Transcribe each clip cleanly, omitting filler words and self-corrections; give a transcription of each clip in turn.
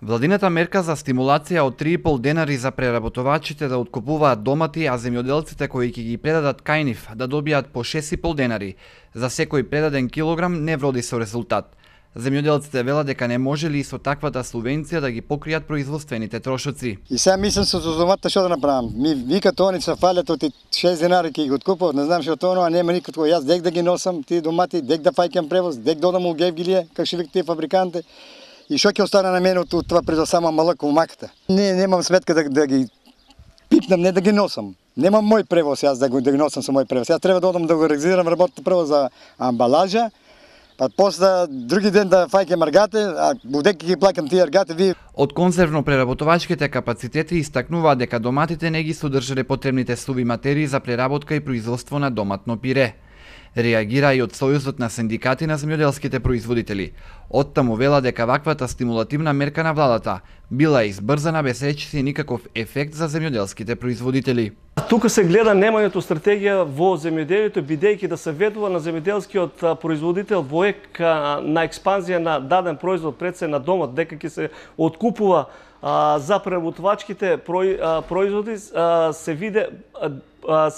Владината мерка за стимулација од 3,5 денари за преработувачите да откупуваат домати, а земјоделците кои ќе ги предадат кај нив да добијат по 6,5 денари за секој предаден килограм не вроди со резултат. Земјоделците велат дека не можели и со таквата субвенција да ги покријат производствените трошоци. И сега мислам со доматите што да направам. Ми викат они се фалят од 6 денари ќе ги откупуват, не знам што тоа, а нема никакво. Јас дек да ги носам тие домати, дек да фаќам превоз, дек да одам у Гевгилија, како што викаат тие фабриканти. И што ќе остане на мене од това пред само малък умаката? Немам сметка да ги пипнам, не да ги носам. Немам мој превоз јас да ги носам со мој превоз. Јас треба да одам да го организирам работното превоз за амбалажа, па после други ден да фаќам аргате, а будеки ги плаќам тие аргате. Од конзервно-преработувачките капацитети истакнуваат дека доматите не ги содржале потребните суви материи за преработка и производство на доматно пире. Реагира и од Сојузот на синдикати на земјоделските производители. Оттаму вела дека ваквата стимулативна мерка на владата била избрзана без речиси никаков ефект за земјоделските производители. Тука се гледа немањето стратегија во земјоделието, бидејќи да се ведува на земјоделскиот производител во на експанзија на даден производ, пред се на домот, дека ќе се откупува за преработувачките производи, се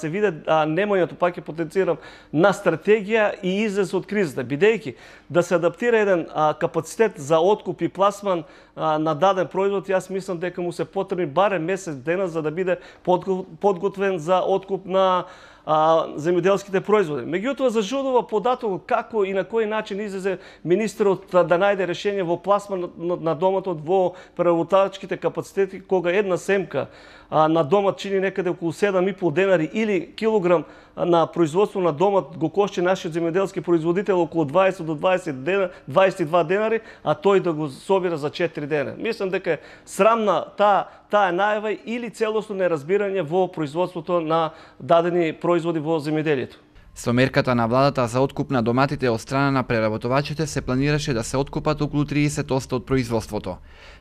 виде немањето, пак ќе потенцирам, на стратегија и излез од кризата, бидејќи да се адаптира еден капацитет за откуп и пласман на даден производ, јас мислам дека му се потребни барем месец дена за да биде подготвен за откуп на земјоделските производи. Меѓутоа зажудува податокот како и на кој начин излезе министерот да најде решение во пласман на домотот во преработувачките капацитети, кога една семка на домат чини некаде околу 7,5 денари или килограм на производство на домат го кошти нашиот земјоделски производител околу 20 до 22 денари, а тој да го собира за 4 дена. Мислам дека е срамна таа најава или целосно неразбирање во производството на дадени производи во земјоделието. Со мерката на владата за откуп на доматите од страна на преработувачите се планираше да се откупат околу 30% од производството.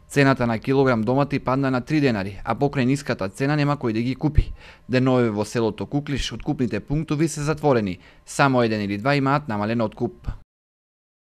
Цената на килограм домати падна на 3 денари, а покрај ниската цена нема кој да ги купи. Денове во селото Куклиш откупните пунктови се затворени, само еден или два имаат намален откуп.